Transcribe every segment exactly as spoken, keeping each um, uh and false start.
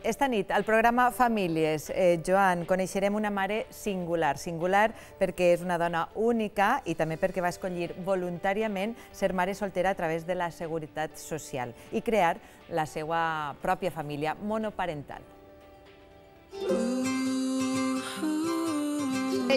Esta nit, al programa Famílies, eh, Joan, coneixerem una mare singular. Singular perquè és una dona única i també perquè va escollir voluntàriament ser mare soltera a través de la Seguretat Social i crear la seva pròpia família monoparental.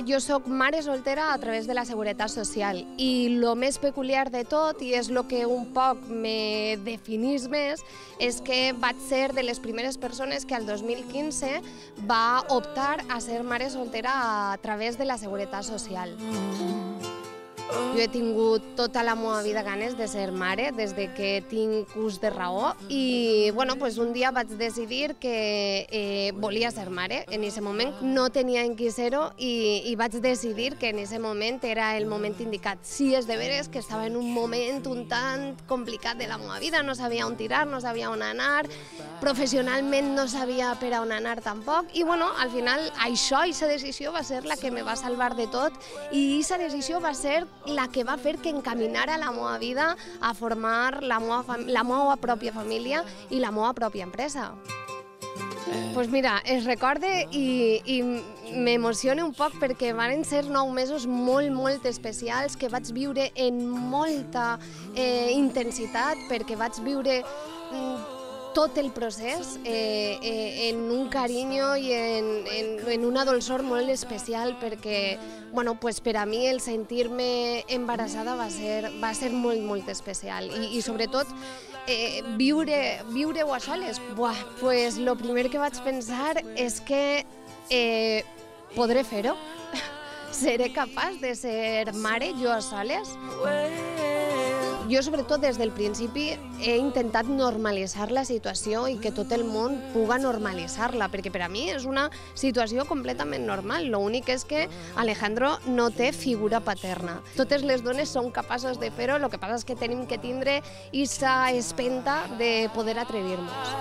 Jo soc mare soltera a través de la Seguretat Social i el més peculiar de tot, i és el que un poc me definís més, és que vaig ser de les primeres persones que al dos mil quinze va optar a ser mare soltera a través de la Seguretat Social. Jo he tingut tota la meva vida ganes de ser mare, des que tinc ús de raó, i bueno, pues un dia vaig decidir que eh, volia ser mare. En aquest moment no tenia en qui ser-ho i, i vaig decidir que en aquest moment era el moment indicat. Sí, és de veres que estava en un moment un tant complicat de la meva vida, no sabia on tirar, no sabia on anar, professionalment no sabia per a on anar tampoc, i bueno, al final això, aquesta decisió va ser la que me va salvar de tot, i aquesta decisió va ser la que va fer que encaminara la meva vida a formar la meva, la meva pròpia família i la meva pròpia empresa. Doncs pues mira, es recorde i, i m'emociona un poc perquè van ser nou mesos molt, molt especials que vaig viure en molta eh, intensitat, perquè vaig viure tot el procés eh, eh, en un carinyo i en, en, en una dolçor molt especial, perquè bueno, pues per a mi el sentir-me embarassada va ser, va ser molt, molt especial. I, i sobretot eh, viure, viure-ho a soles. Buah, pues lo primer que vaig pensar és que eh, podré fer-ho. Seré capaç de ser mare jo a soles? Jo, sobretot, des del principi he intentat normalitzar la situació i que tot el món puga normalitzar-la, perquè per a mi és una situació completament normal. L'únic és que Alejandro no té figura paterna. Totes les dones són capaces de fer-ho, el que passa és que tenim que tindre aquesta espenta de poder atrevir-nos.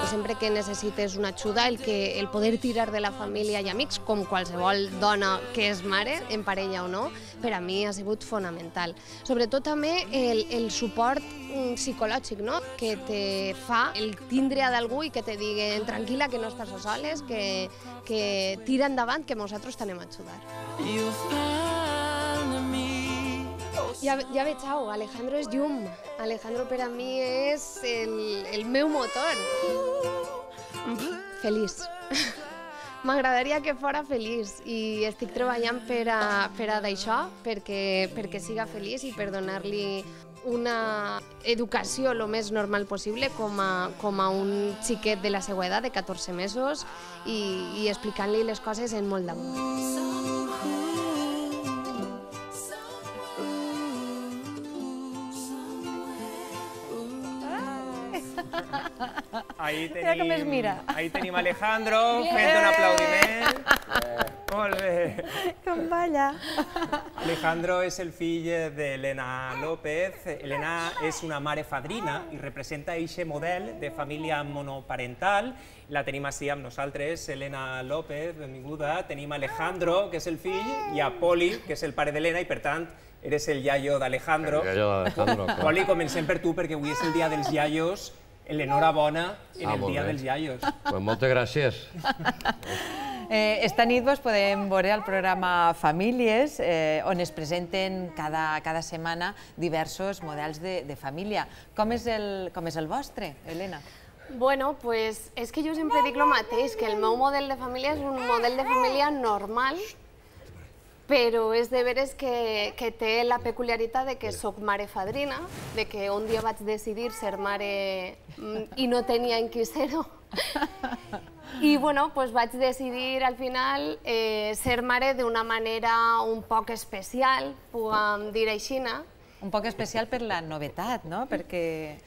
Sempre que necessites una ajuda, el, que, el poder tirar de la família i amics, com qualsevol dona que és mare, en parella o no, per a mi ha sigut fonamental. Sobretot també el, el suport psicològic, no? Que te fa el tindre a d'algú i que te diguen tranquil·la, que no estàs a soles, que, que tira endavant, que nosaltres t'anem a ajudar. Ja, ja veig, au, Alejandro és llum. Alejandro per a mi és el, el meu motor. Feliç. M'agradaria que fora feliç i estic treballant per a, per a d'això, perquè, perquè siga feliç i per donar-li una educació el més normal possible com a, com a un xiquet de la seva edat, de catorze mesos, i, i explicant-li les coses en molt d'amor. Ahí Mira com es mira. Ahí tenim Alejandro fent un aplaudiment. Molt bé. Com balla. Alejandro és el fill d'Helena López. Helena és una mare fadrina i representa aquest model de família monoparental. La tenim així amb nosaltres, Helena López, benvinguda. Tenim Alejandro, que és el fill, i a Poli, que és el pare d'Helena, i per tant eres el iaio d'Alejandro. El iaio d'Alejandro, clar. Poli, comencem per tu, perquè avui és el dia dels iaios. L'enhorabona en el dia dels iaios. Pues moltes gràcies. Eh, esta nit vos podem veure al programa Famílies, eh, on es presenten cada, cada setmana diversos models de, de família. Com és, el, com és el vostre, Helena? Bueno, pues és que jo sempre dic el mateix, que el meu model de família és un model de família normal, però és de veres que, que té la peculiaritat de que soc mare fadrina, de que un dia vaig decidir ser mare i no tenia en qui ser-ho. I bueno, pues vaig decidir al final eh, ser mare d'una manera un poc especial, puguem dir així. Un poc especial per la novetat, no? Perquè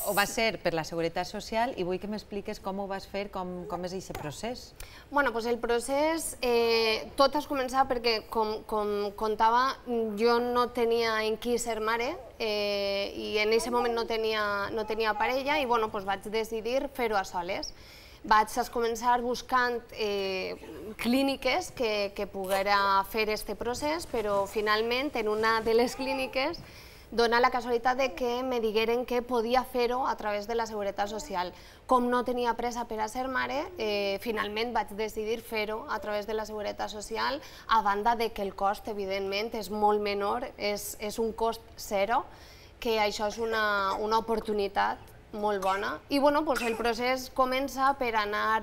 ho va ser per la Seguretat Social i vull que m'expliques com ho vas fer, com, com és aquest procés. Bueno, doncs el procés, eh, tot has començat perquè, com, com contava, jo no tenia en qui ser mare eh, i en aquest moment no tenia, no tenia parella i bueno, doncs vaig decidir fer-ho a soles. Vaig començar buscant eh, clíniques que, que poguera fer aquest procés, però finalment en una de les clíniques dona la casualitat de que me digueren que podia fer-ho a través de la Seguretat Social. Com no tenia pressa per a ser mare, finalment vaig decidir fer-ho a través de la Seguretat Social, a banda de que el cost, evidentment, és molt menor, és un cost zero, que això és una oportunitat molt bona. I el procés comença per anar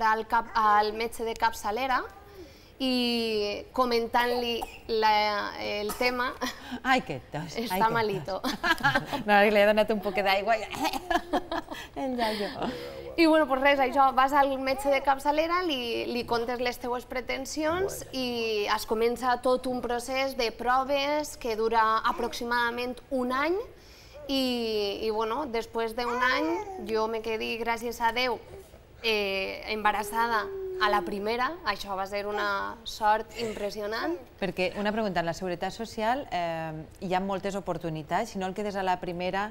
al metge de capçalera i comentant-li el tema. Ai, que tos. Està malito. No, li he donat un poquet d'aigua i... I res, això, vas al metge de capçalera, li contes les teues pretensions i es comença tot un procés de proves que dura aproximadament un any i després d'un any jo me quedi, gràcies a Déu, embarassada a la primera. Això va ser una sort impressionant. Perquè, una pregunta, en la Seguretat Social hi ha moltes oportunitats. Si no el quedes a la primera,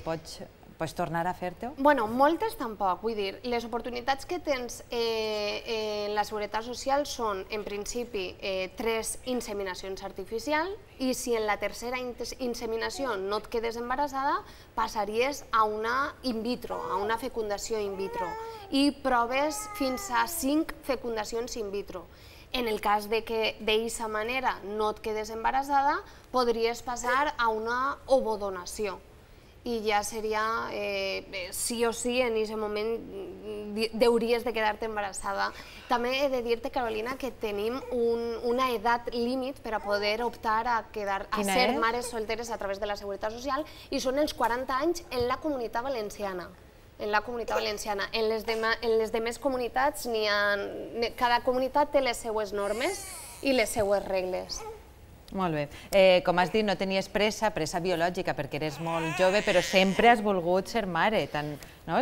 pots tornar a fer-te-ho? Bueno, moltes tampoc. Vull dir, les oportunitats que tens en la Seguretat Social són, en principi, tres inseminacions artificials i si en la tercera inseminació no et quedes embarassada, passaries a una in vitro, a una fecundació in vitro i proves fins a cinc fecundacions in vitro. En el cas que d'aquesta manera no et quedes embarassada, podries passar a una ovodonació. I ja seria, sí o sí, en aquest moment hauries de quedar-te embarassada. També he de dir-te, Carolina, que tenim una edat límit per a poder optar a ser mares solteres a través de la Seguretat Social i són els quaranta anys en la Comunitat Valenciana. En la Comunitat Valenciana. En les demés comunitats, cada comunitat té les seues normes i les seues regles. Molt bé. Com has dit, no tenies pressa, pressa biològica, perquè eres molt jove, però sempre has volgut ser mare.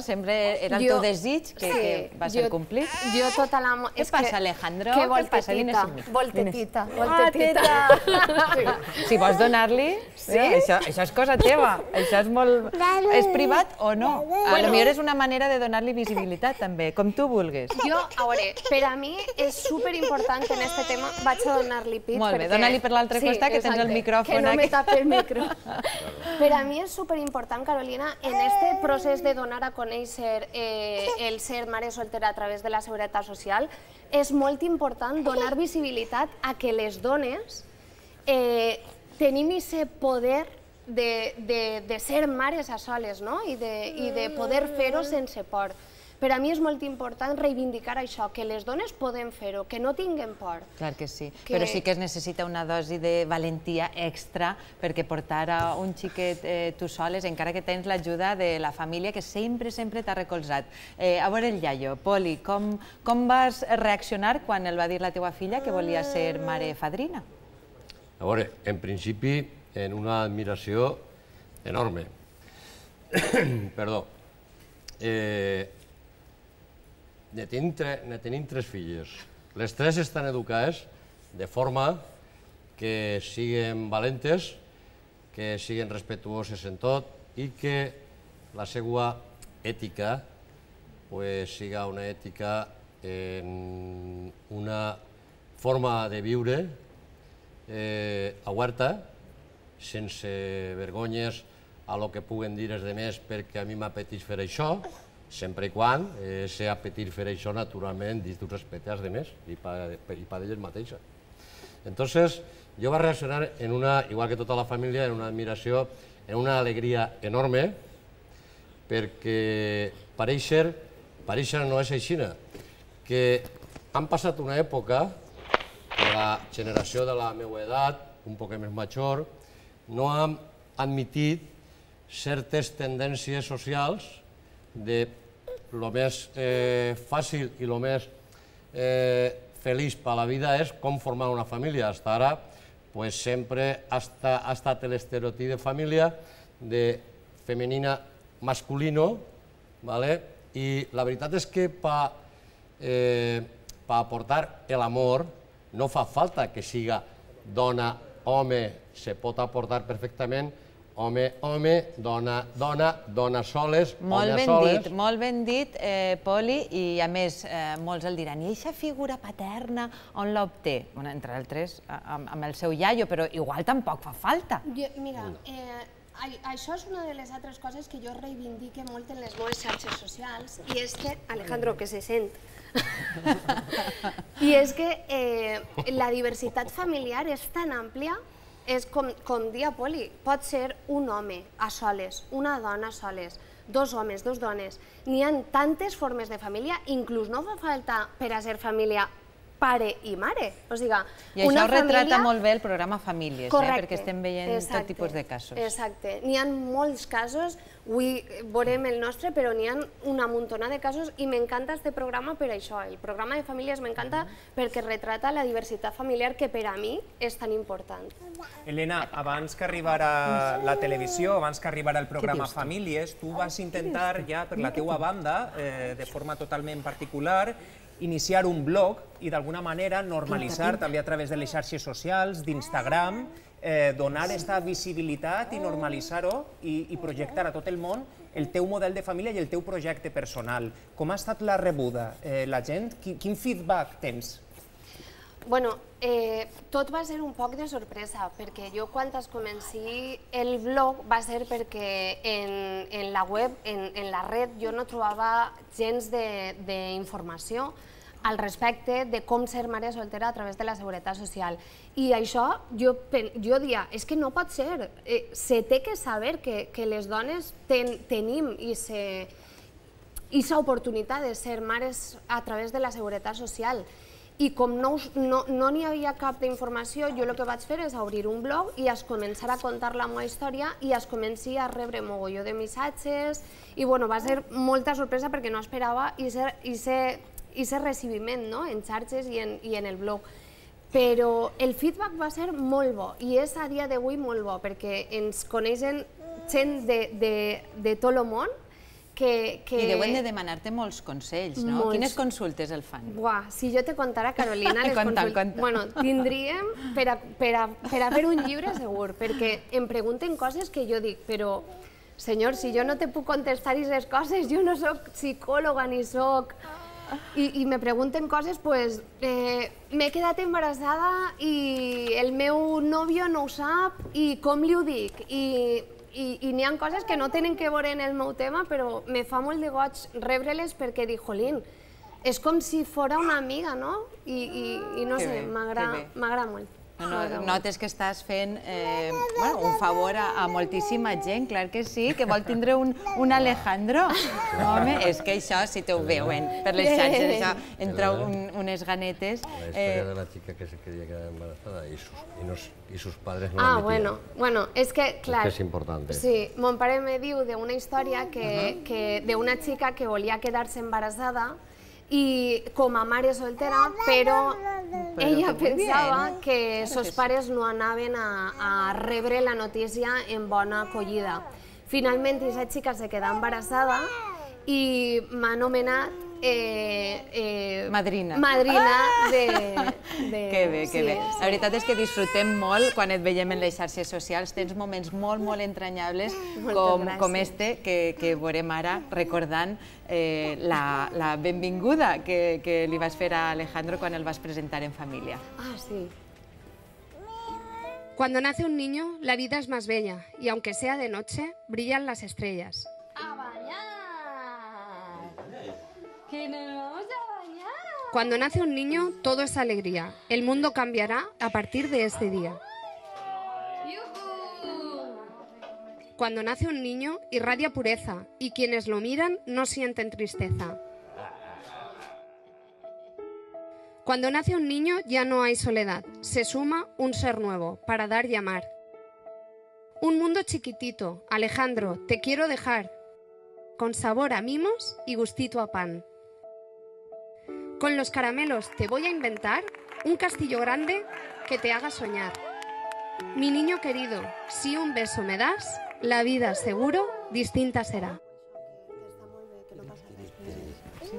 Sempre era el teu desig que va ser complit. Jo tota la... Què passa, Alejandro? Que voltetita. Voltetita. Voltetita. Si vols donar-li, això és cosa teva. Això és molt... És privat o no? Potser és una manera de donar-li visibilitat, també, com tu vulguis. Jo, a veure, per a mi és superimportant en aquest tema, vaig a donar-li pit. Molt bé, dona-li per l'altre costat, que tens el micròfon aquí. Que no me tapi el micro. Per a mi és superimportant, Carolina, en aquest procés de donar a conèixer el ser mare soltera a través de la Seguretat Social, és molt important donar visibilitat a que les dones tenim aquest poder de ser mares a soles i de poder fer-ho sense por. Per a mi és molt important reivindicar això, que les dones podem fer-ho, que no tinguem por. Clar que sí, però sí que es necessita una dosi de valentia extra perquè portar a un xiquet tu soles, encara que tens l'ajuda de la família que sempre, sempre t'ha recolzat. A veure el iaio, Poli, com vas reaccionar quan el va dir la teua filla que volia ser mare fadrina? A veure, en principi, en una admiració enorme. Perdó. Ne tenim tres filles. Les tres estan educades de forma que siguin valentes, que siguin respectuoses en tot i que la seva ètica siga una ètica en una forma de viure oberta, sense vergonyes a lo que puguen dir els altres perquè a mi m'apeteix fer això, sempre i quan ser apetir fer això, naturalment, dins d'un respecte als altres i per elles mateixes. Entonces, jo vaig reaccionar, igual que tota la família, en una admiració, en una alegria enorme, perquè pareixer, pareixer no és així, que han passat una època que la generació de la meva edat, un poc més major, no han admitit certes tendències socials de lo més fàcil i lo més feliç per a la vida és com formar una família. Fins ara sempre ha estat l'estereotip de família de femenina masculino i la veritat és que per aportar l'amor no fa falta que siga dona-home, se pot aportar perfectament home, home, dona, dona, dona soles, home a soles... Molt ben dit, molt ben dit, Poli, i a més, molts el diran, i aquesta figura paterna on l'obté? Entre altres, amb el seu iaio, però igual tampoc fa falta. Mira, això és una de les altres coses que jo reivindique molt en les meves xarxes socials, i és que, Alejandro, que se sent, i és que la diversitat familiar és tan àmplia, és com dia Poli, pot ser un home a soles, una dona a soles, dos homes, dos dones, n'hi ha tantes formes de família, inclús no fa falta per a ser família pare i mare. I això retrata molt bé el programa Famílies, perquè estem veient tot tipus de casos. Exacte. N'hi ha molts casos, avui veurem el nostre, però n'hi ha una muntona de casos i m'encanta aquest programa per això. El programa de Famílies m'encanta perquè retrata la diversitat familiar que per a mi és tan important. Elena, abans que arribara la televisió, abans que arribara el programa Famílies, tu vas intentar ja per la teua banda, de forma totalment particular, iniciar un blog i d'alguna manera normalitzar també a través de les xarxes socials, d'Instagram, donar aquesta visibilitat i normalitzar-ho i projectar a tot el món el teu model de família i el teu projecte personal. Com ha estat la rebuda? La gent, quin feedback tens? Bueno, tot va ser un poc de sorpresa, perquè jo quan es comenci el blog va ser perquè en la web, en la red, jo no trobava gens d'informació al respecte de com ser mare soltera a través de la Seguretat Social. I això jo dia, és que no pot ser, se té que saber que les dones tenim aquesta oportunitat de ser mares a través de la Seguretat Social. I com no n'hi havia cap d'informació, jo el que vaig fer és obrir un blog i es començar a contar la meva història i es comenci a rebre mogolló de missatges i va ser molta sorpresa perquè no esperava aquest recibiment en xarxes i en el blog. Però el feedback va ser molt bo i és a dia d'avui molt bo perquè ens coneixen gent de tot el món. I deuen de demanar-te molts consells, no? Quines consultes el fan? Buah, si jo te contara, Carolina, les consultes... Bueno, tindríem per a fer un llibre segur, perquè em pregunten coses que jo dic, però, senyor, si jo no te puc contestar aquestes coses, jo no soc psicòloga ni soc... I me pregunten coses, doncs, m'he quedat embarassada i el meu nòvio no ho sap i com li ho dic? I n'hi ha coses que no tenen que veure en el meu tema, però me fa molt de goig rebre-les perquè dic, jolín, és com si fora una amiga, no? I no sé, m'agrada molt. Notes que estàs fent un favor a moltíssima gent, clar que sí, que vol tindre un Alejandro. Home, és que això, si te ho veuen per les xarxes, això, entra unes ganetes... La història de la chica que se quería quedar embarazada y sus padres no la metían. Ah, bueno, bueno, és que, clar... És important. Sí, mon pare me diu d'una història d'una xica que volia quedar-se embarassada i com a mare soltera, però ella pensava que sos pares no anaven a rebre la notícia en bona acollida. Finalment, aquesta xica se queda embarassada i m'ha anomenat madrina. Madrina de... Que bé, que bé. La veritat és que disfrutem molt quan et veiem en les xarxes socials. Tens moments molt, molt entranyables com este que veurem ara recordant la benvinguda que li vas fer a Alejandro quan el vas presentar en família. Ah, sí. Cuando nace un niño, la vida es más bella y aunque sea de noche, brillan las estrellas. ¡A bañar! ¡Que nos vamos a bañar! Cuando nace un niño, todo es alegría. El mundo cambiará a partir de este día. Cuando nace un niño, irradia pureza y quienes lo miran no sienten tristeza. Cuando nace un niño ya no hay soledad, se suma un ser nuevo para dar y amar. Un mundo chiquitito, Alejandro, te quiero dejar, con sabor a mimos y gustito a pan. Con los caramelos te voy a inventar un castillo grande que te haga soñar. Mi niño querido, si un beso me das, la vida seguro distinta será.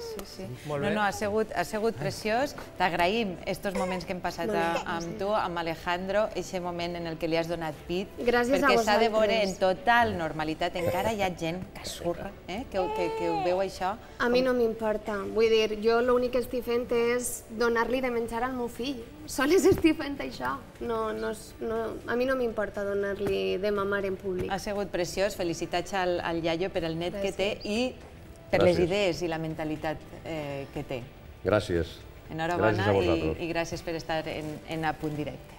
Sí, sí, sí. Molt No, bé. no, ha sigut, ha sigut preciós. T'agraïm estos moments que hem passat a, amb tu, amb Alejandro, aquest moment en el que li has donat pit. Gràcies a perquè s'ha de veure vosaltres. en total normalitat. Encara hi ha gent que surra, eh? que, que, que ho veu això. A mi no m'importa. Vull dir, jo l'únic que estic fent és donar-li de menjar al meu fill. Sols estic fent això. No, no, és- no, a mi no m'importa donar-li de mamar en públic. Ha sigut preciós. Felicitats al, al iaio per el net que té Gràcies. i per les Gràcies. idees i la mentalitat eh, que té. Gràcies. Enhorabona Gràcies a i, vosaltres. i gràcies per estar en, en A Punt Directe.